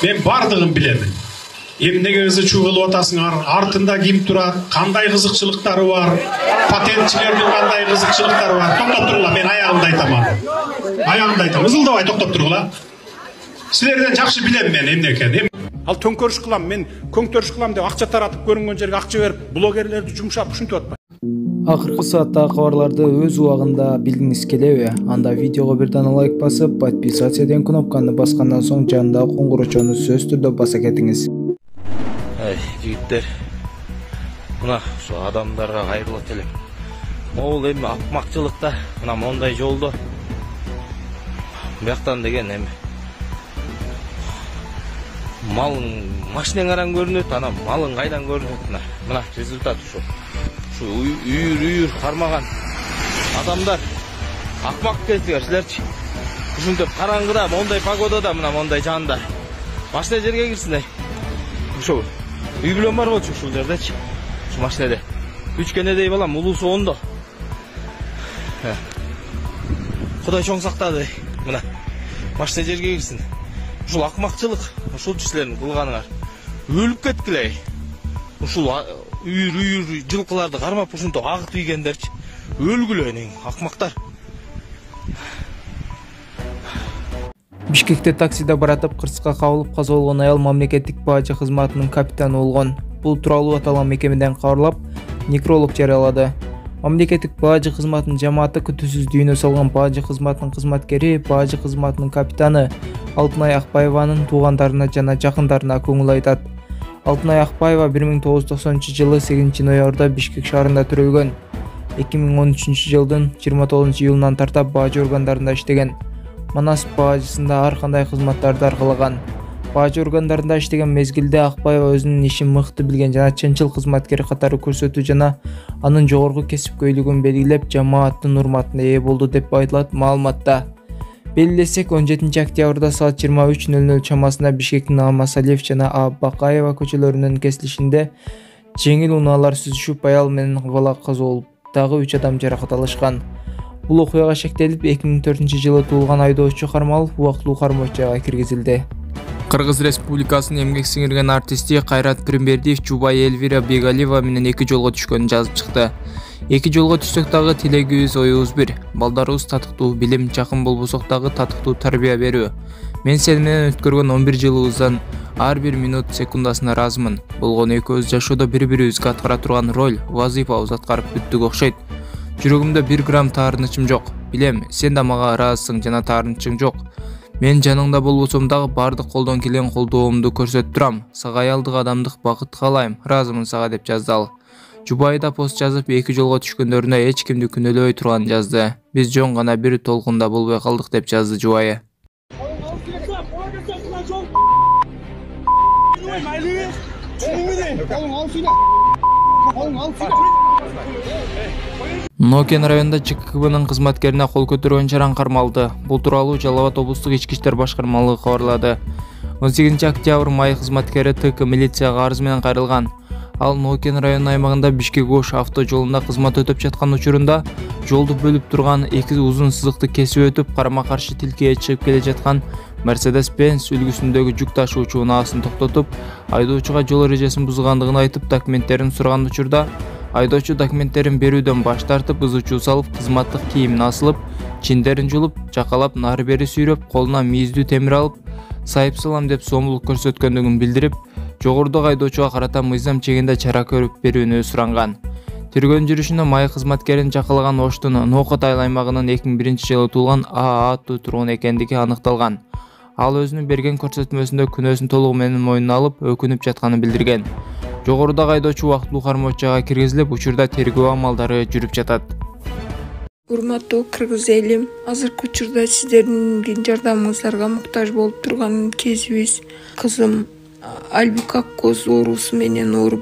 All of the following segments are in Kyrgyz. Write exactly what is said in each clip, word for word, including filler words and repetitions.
Мен бардыгын билем. Эмнеге ызы чуу кылып атасыңар? Артында ким турат? Кандай кызыкчылыктары бар? Патентчилердин кандай кызыкчылыктары бар? Токтоп тургула, мен аягымды айтам. Аягымды айтам. Ызылдабай токтоп тургула. Силерден жакшы билем мен эмне экенин. Ал төңкөрүш кылам, мен көңтөрүш кылам деп акча таратып көрүнгөн жерге акча берип, блогерлерди жумшап ушинтип атпайбы? Акыркы сааттагы кабарларды өз убагында билгиңиз келеби? Анда видеого бир дана лайк басып, подписаться деген кнопканы баскандан соң жанындагы коңгурочону сөзсүз түрдө баса кетиңиз. Эй, жигиттер. Мына ушу адамдарга кайрылат элем. Могул эми акмакчылыкта мына мондай жолдо бияктан деген эми малың машинең аран көрүнөт, ана малың кайдан көрүнөт? Мына, мына результат ушу. Ушу үйүр-үйүр кармаган адамдар акмак экенсиңер силерчи. Ушинтип караңгыда, мондай погодада, мына мондай жанда машина жерге кирсин эй. Ушу үй бүлөм бар болчу ушул жердечи. Ушу машинеде үч кенедей балам, улуусу ондо. Кудай чоң сактады. Мына машина жерге кирсин. Ушул акмакчылык, ушул силердин кылганыңар. Өлүп кеткилей. Ушул үйүр-үйүр жылкыларды кармап ушинтип агытып ийгендерчи. Өлгүлө эне акмактар. Бишкекте таксиде баратып кырсыкка кабылып каза болгон аял мамлекеттик бажы кызматынын капитаны болгон. Бул тууралуу аталган мекемеден кабарлап, некролог жарыялады. Мамлекеттик бажы кызматынын жамааты күтүүсүз дүйнө салган бажы кызматынын кызматкери, бажы кызматынын капитаны Алтынай Акбаеванын туугандарына жана жакындарына көңүл айтат. Алтынай Акбаева бир миң тогуз жүз токсонунчу жылы сегизинчи ноябрда Бишкек шаарында төрөлгөн. эки миң он үчүнчү жылдын жыйырма тогузунчу июлунан тартап бажы органдарында иштеген. Манас бажысында ар кандай кызматтарды аркалаган. Бажы органдарында иштеген мезгилде Акбаева өзүнүн ишин мыкты билген жана чынчыл кызматкер катары көрсөтүү жана анын жогорку кесипкөйлүгүн белгилеп, жамааттын урматына ээ болду деп айтылат маалыматта. Белгилесек, он жетинчи октябрда саат жыйырма үч нөл нөл чамасында Бишкектин Амасалиев жана Абакаева көчөлөрүнүн кесилишинде жеңил унаалар сүзүшүп, аял менен бала каза болуп, дагы үч адам жаракат алышкан. Бул окуяга шектелип, эки миң төртүнчү жылы туулган айдоочу кармалып, убактылуу кармоочага киргизилди. Кыргыз Республикасынын эмгек сиңирген артисти Кайрат Пирмбердиев Жубай Эльвира Бегалиева менен эки жолго түшкөнүн жазып чыкты. Эки жолго түшсөк дагы тилегибиз, оюбуз бир. Балдарыбыз татыктуу билим, жакын болбосок дагы татыктуу тарбия берүү. Мен сени менен өткөргөн он бир жылыбыздан ар бир минут секундасына ыраазымын. Болгону экөөбүз жашоодо бири-бирибизге аткара турган роль, вазыйфабыз аткарып бүттүк окшойт. Жүрөгүмдө бир грамм таарынычым жок. Билем, сен да мага ыраазысың жана таарынычың жок. Мен жаныңда болбосом дагы бардык колдон келген колдоомду көрсөтүп турам. Сага аялдык, адамдык бакыт каалайм. Ыраазымын сага деп жазды ал. Жубай да пост жазып, эки жолго түшкөндөрүнө эч кимди күнөөлөбөй турганын жазды. Биз жөн гана бир толкунда болбой калдык деп жазды Жубайы. Нокен районунда ЖКХБнын кызматкерине кол көтөргөн чаран кармалды. Бул тууралуу Жалал Абад облустук ички иштер башкармалыгы кабарлады. он сегизинчи октябрь май кызматкери ТК милицияга арыз менен кайрылган. Ал Нокен районунун аймагында Бишкек-Ош авто жолунда кызмат өтөп жаткан учурунда жолду бөлүп турган эки узун сызыкты кесип өтүп, карама-каршы тилкеге чыгып келе жаткан Mercedes-Benz үлгүсүндөгү жүк ташуучу унаасын токтотуп, айдоочуга жол эрежесин бузгандыгын айтып, документтерин сураган учурда айдоочу документтерин берүүдөн баш тартып, ыз учуу салып, кызматтык кийимин асылып, чиндерин жулуп, жакалап, нары-бери сүйрөп, колуна мийиздүү темир алып, сайып салам деп сомдулук көрсөткөндүгүн билдирип, жогорудагы айдоочуга карата мыйзам чегинде чара көрүп берүүнү суранган. Тергөө жүрүшүндө май кызматкерин жакалаган Оштун Нокот айыл аймагынын эки миң биринчи жылы туулган А аттуу тургун экендиги аныкталган. Ал өзүнүн берген көрсөтмөсүндө күнөөсүн толугу менен мойнуна алып, өкүнүп жатканын билдирген. Жогорудагы айдоочу убактылуу кармоочага киргизилип, учурда тергөө амалдары жүрүп жатат. Урматтуу кыргыз элим, азыркы учурда сиздердин жардамыңыздарга муктаж болуп турган кезибиз. Кызым Альбика коз оорусу менен ооруп,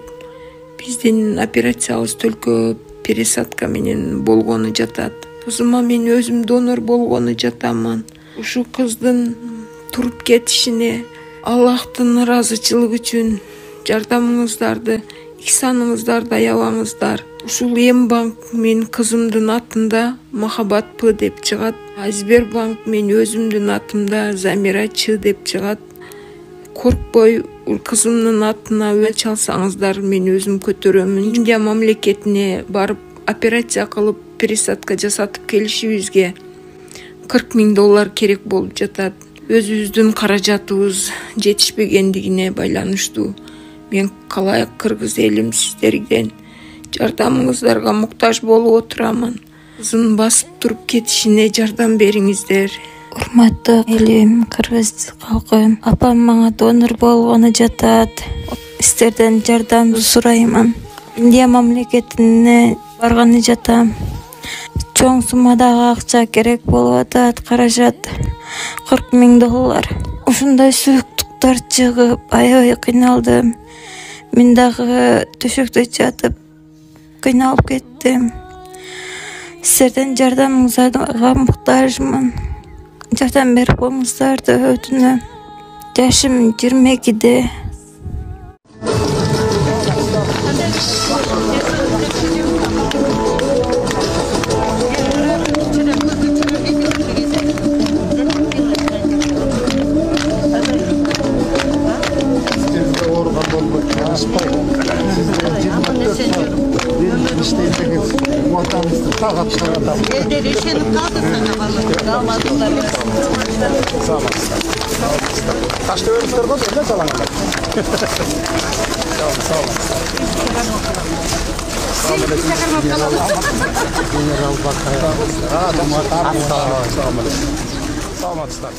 биздин операциябыз төлкө пересадка менен болгону жатат. Кызыма мен өзүм донор болгону жатамын. Ушу кыздын туруп кетишине Аллахтын ыраазычылыгы үчүн жардамыңыздарды, ихсаныңыздарды аябаңыздар. Ушул Эм банк мен кызымдын атында Махабат П деп чыгат. Сбербанк мен өзүмдүн атымда Замира Ч деп чыгат. коркпой кызымдын атына өч алсаңыздар мен өзүм көтөрөмүн. Индия мамлекетине барып операция кылып пересадка жасатып келишибизге кырк миң доллар керек болуп жатат. Өзүбүздүн каражатыбыз жетишпегендигине байланыштуу. Мен калай кыргыз элим сиздерден жардамыңыздарга муктаж болуп отурамын. Кызым басып туруп кетишине жардам бериңиздер. Урматтуу элим, кыргыз калкы, апам мага донор болгону жатат. Сиздерден жардам сураймын. Индия мамлекетине барганы жатам. Чоң суммадагы акча керек болуп атат, каражат кырк миң доллар. Ушундай сүйүктүктөр чыгып, аябай кыйналдым. Мен дагы төшөктө жатып кыйналып кеттим. Сиздерден жардамыңызга муктажмын. Жардам берип коюңуздарды өтүнөм. Жашым жыйырма экиде. Elleri üşenip kaldırsan kafalarını kalmadılar. Sağ olun. Taşta vermişler mi? Ne çalanlar? Sağ olun. Sağ olun.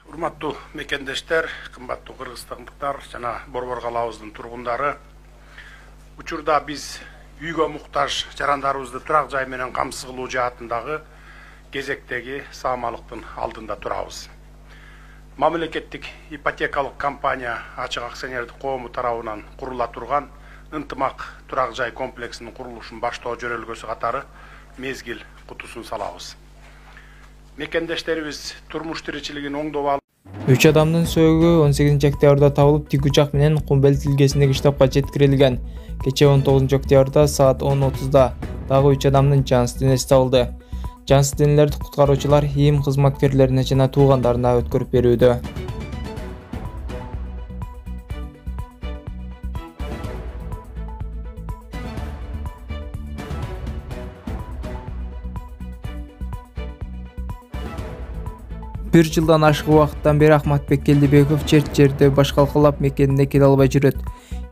Урматтуу мекендештер, кымбаттуу кыргызстандыктар жана Борбор калабыбыздын тургундары, учурда биз үйгө муктаж жарандарыбызды турак жай менен камсыз кылуу жаатындагы кезектеги саамалыктын алдында турабыз. Мамлекеттик ипотекалык компания ачык акционердик коому тарабынан курула турган ынтымак турак жай комплексинин курулушун баштоо жөнөлгөсү катары мезгил кутусун салабыз. Мекендештерибиз турмуш тиричилигин оңдоп алып, үч адамдын сөөгү он сегизинчи октябрда табылып, тик учак менен Кумбел тилгесиндеги штабка жеткирилген. Кечээ он тогузунчу октябрда саат он отузда дагы үч адамдын жансыз денеси табылды. Жансыз денелерди куткаруучулар ИИМ кызматкерлерине жана туугандарына өткөрүп берүүдө. Бир жылдан ашык убакыттан бери Ахматбек Келдибеков черт жерде баш калкалап мекенине келе албай жүрөт.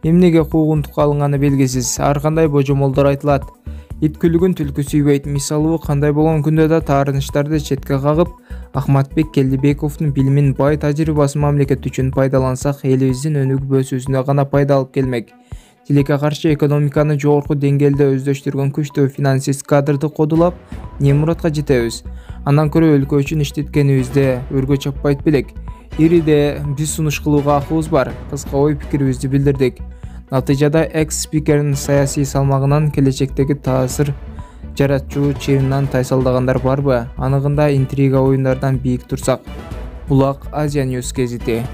Эмнеге куугунтукка алынганы белгисиз. Ар кандай божомолдор айтылат. Ит күлүгүн түлкү сүйбөйт. Мисалуу кандай болгон күндө да таарынычтарды четке кагып, Ахматбек Келдибековдун билимин, бай тажрыйбасын мамлекет үчүн пайдалансак, элибиздин өнүгүү-өсүүсүнө гана пайда алып келмек. Тилекке каршы экономиканы жогорку деңгээлде өздөштүргөн күчтүү финансист кадрды кодулап, не муратка жетебиз? Андан көрө өлкө үчүн иштеткенибизде өргө чаппайт белек. Ириде биз сунуш кылууга акыбыз бар. Кыска ой пикирибизди билдирдик. Натыйжада экс-спикердин саясий салмагынан келечектеги таасир жаратчу чырынан тайсалдагандар барбы? Аныгында интрига оюндардан бийик турсак. Булак Азия Ньюс гезити.